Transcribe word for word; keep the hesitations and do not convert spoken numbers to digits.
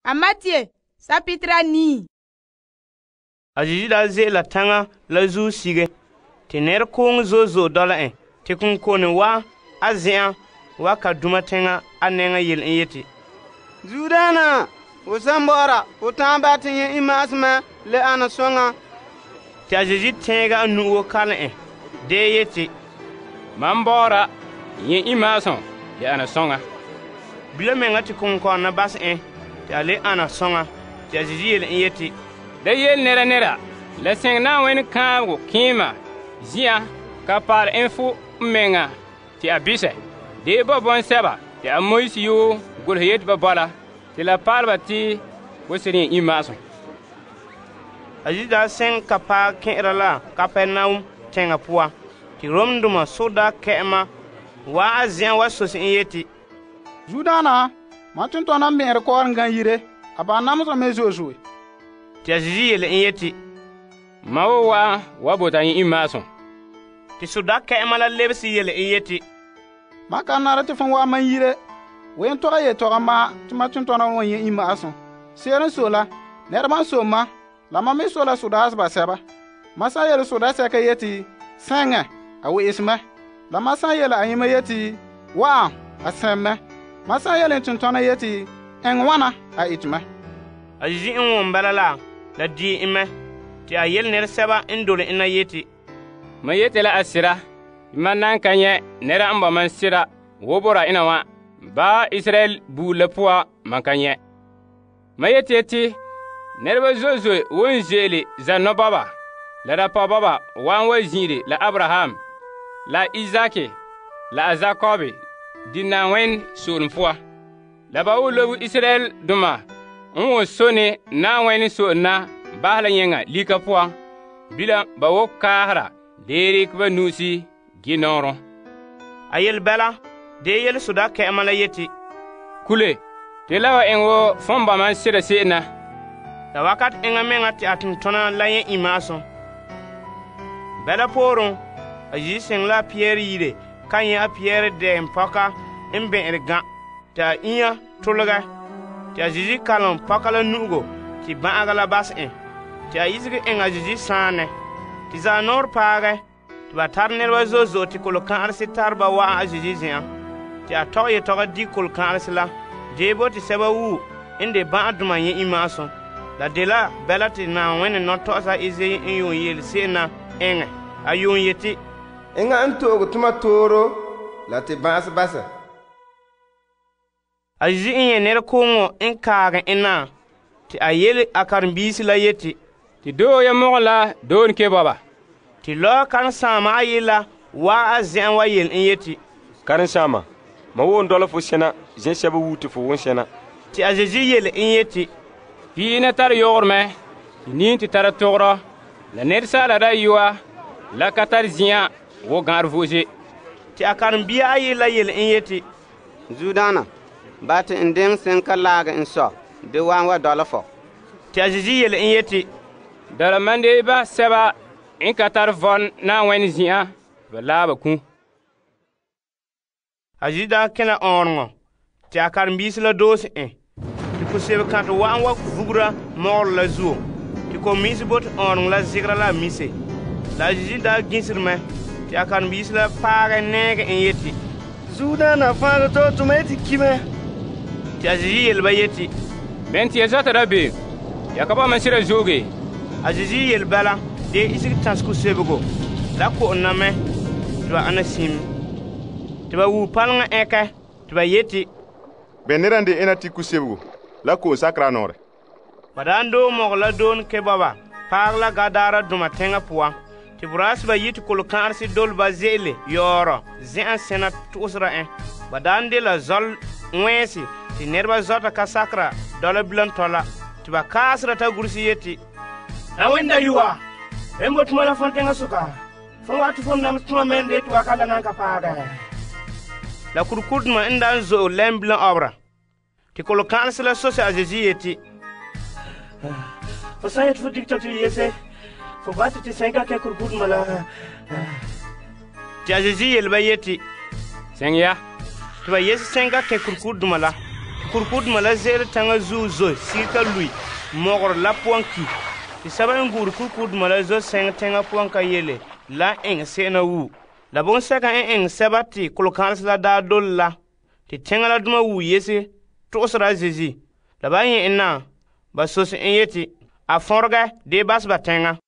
a Matthew sapitira nii. A Yesu daa ze'ela taŋa la zuo sige, te nɛrekooŋɔ zo'e zo'e dɔla en, te konkone wa a zen'an wa ka duma teŋa a nɛŋa yele en yeti, Zuodaana, ho san bɔ'ɔra, ho ta'an bahɛ te nyɛ' imma'asem le ana soŋa. Te a Yesu tɛɛga a nu'o kalom en, dee yeti, Mam bɔ'ɔra nyɛ' imma'asem le ana soŋa. Bilam meŋa te konkɔnena basɛ en te a le ana soŋa. Te a Yesu yele en yeti, Da yele nɛra nɛra la seŋ Na'ayenɛ kãabego kẽema zin'an ka paal en fo mɛŋa te a bisɛ. Dee ba bɔŋsɛba te a Moise yoo golehɛ yeti ba bɔla te la paal ba te bo seren nyɛ' imma'asem. A Yesu daa seŋ ka paɛ kɛn'ɛra la Kapernaum teŋa poan. Te Romdoma soda kɛ'ɛma wa a zen'an wa sose en yeti, Zuodaana, mam tontɔɔna mɛ'ɛrɛ kɔɔrɔn gan yire, a ba namesɛ me zo'e zo'e. Te a Yesu yele en yeti, Ma wo wa wa bota nyɛ' imma'asem. te soda kɛ'ɛma la lebese yele en yeti, Mam kan nara te fon wa man yire, wen tɔgɛ yetɔgɔ ma te mam tontɔɔna wa nyɛ' imma'asem. Se'ere n sɔe la, nɛreba n sɔe ma, la mam me sɔe la sodaas basɛba. Mam san yele sodaa sɛka yeti, sɛŋɛ, a we'ese mɛ. La mam san yele ayema yeti, wa'an, a sɛm mɛ. Mam san yele n tontɔɔna yeti, ɛŋ wana, a ete mɛ. A Yesu n wom bala la, la die en mɛ. Te a yele nɛresɛba n dole en na yeti, Ma yete la a sira, man nan ka nyɛ nɛra n ba man sira wo bora ina wa, ba Israel buur la poa man ka nyɛ. Ma yete yeti, nɛreba zo'e zo'e won ze'ele zanɔ baba, la dapɔ baba wan wa zin'ire la Abraham, la Izaki, la a Zakobe, di Na'ayenɛ soolem poa. La ba wo lobe Israel doma n wo sone Na'ayenɛ so'olem na bahɛ la yɛŋa lika poan, bilam ba wo kaahera deere ka ba nu'usi gi nɔɔrɔ. A yele bɛla, dee yele soda kɛ'ɛma la yeti, Kule, te la wa eŋ wo fõn ba man sira se'em na. la wakat eŋa meŋa te a tontona la nyɛ imma'asem. Bɛla pooren, a Yesu seŋ la a Pierre yire ka nyɛ a Pierre dɛɛn pɔka n bɛ'ɛre gã, te a inya tolegɛ. Te a Yesu kalom pɔka la nu'ugo te bã'aga la basɛ en. Te a isege eŋ a Yesu sãanɛ. Te zanɔɔre paagɛ, te ba tare nɛreba zo'e zo'e te kolokã'arese tare ba wa'an a Yesu zen'an. Te a tɔgɛ yetɔgɔ di kolokã'arese la, dee bo te sɛba wuo n de bã'adoma nyɛ imma'asem. La dela bɛla te Na'ayenɛ nɔtɔgɔsa Isayi n yuun yele se'em na eŋɛ. A yuun yeti, Enŋa n to'oge toma tooro la te bã'as basɛ. A Yesu n nyɛ nɛrekooŋɔ n kaagɛ en na, te a yele a karenbiisi la yeti, Te doo ya mɔgɔ la doon ke baba. te lɔɔ karensaama ayi la waa a zen'an wa yele en yeti, Karensaama, ma wo n dɔla fo sɛna zɛsɛba wuu te fo won sɛna. te a Yesu yele en yeti, Pii na tare yogor mɛ, te niin te tara togrɔ, la nɛresaala dayɔa la ka tare zĩ'an wo gã'ar vo'ose. te a karenbia ayi la yele en yeti, Zuodaana, ba te n deŋ seŋ ka laage n sɔ, de waan wa dɔla fɔ. te a Yesu yele en yeti, Dala mande ba sɛba n ka tare vɔn Na'ayenɛ zin'an ba laa ba ku. a Yesu daa kẽla ɔɔreŋɔ, te a karenbiisi la doose en. Te kusebekãtɛ wa'an wa vugura mɔgɔrɛ la zuo, te komiisi bote ɔɔreŋɔ la zegera la a mise. La a Yesu daa gisiri mɛ, te a karenbiisi la paagɛ nɛɛgɛ en yeti, Zuodaana fãaga tɔ tʋma yeti ki mɛ. te a Yesu yele ba yeti, Bɛn tɩ ya zɔta da beem, ya ka ba man sira zooge. a Yesu yele bala, dee isege tãs kusebego la ko'om na mɛ tɩ ba ana sim. Tɩ ba wuu paleŋa ɛkɛ tɩ ba yeti, Bɛ nera n de ena tɩ kusebego la ko'om sakra nɔɔrɛ. ba daan doo mɔgɔ la doon ke baba paag la Gadaara doma teŋa poan. Tɩ boraaseba yi tɩ kolokã'arese dole ba ze'ele yɔɔrɔ zẽ'an sẽna tʋʋsera ẽ. Ba daan de la zɔl wẽese tɩ nɛreba zɔta ka sakra dɔla bilam tɔla. Tɩ ba kaasera t'a gursi yeti, Na'ayenɛ dayɔa, en bo tʋma la fõn teŋa soka, fõn wa tɩ fõn nam tʋma mɛn de tɩ wa ka la nan ka paagɛ. La kurikurduma n daan zo'e lɛm bilam ɔbra. Tɩ kolokã'arese la sose a Yesu yeti, fo san yeti fo dig tɔ tɩ yese, fo ba tɩ tɩ sẽn ka kɛ kurikurduma la. Tɩ a Yesu yele ba yeti, Sẽng ya, tɩ ba yese sẽn ka kɛ kurikurduma la. kurikudoma la ze'ele taŋa zuo zo sige lui mɔgɔrɛ la poan ki. Te sɛba n gu'ure kurikudoma la zo sɛŋɛ teŋa poan ka yele la eŋɛ se'em na wu. La bonsɛka n eŋɛ sɛba te kolokãresi la daa dole la, te teŋa la doma wu yese to'osera a Zeezi. La ba nyɛ en na, ba sose en yeti a fɔnregɛ dee basɛ ba teŋa.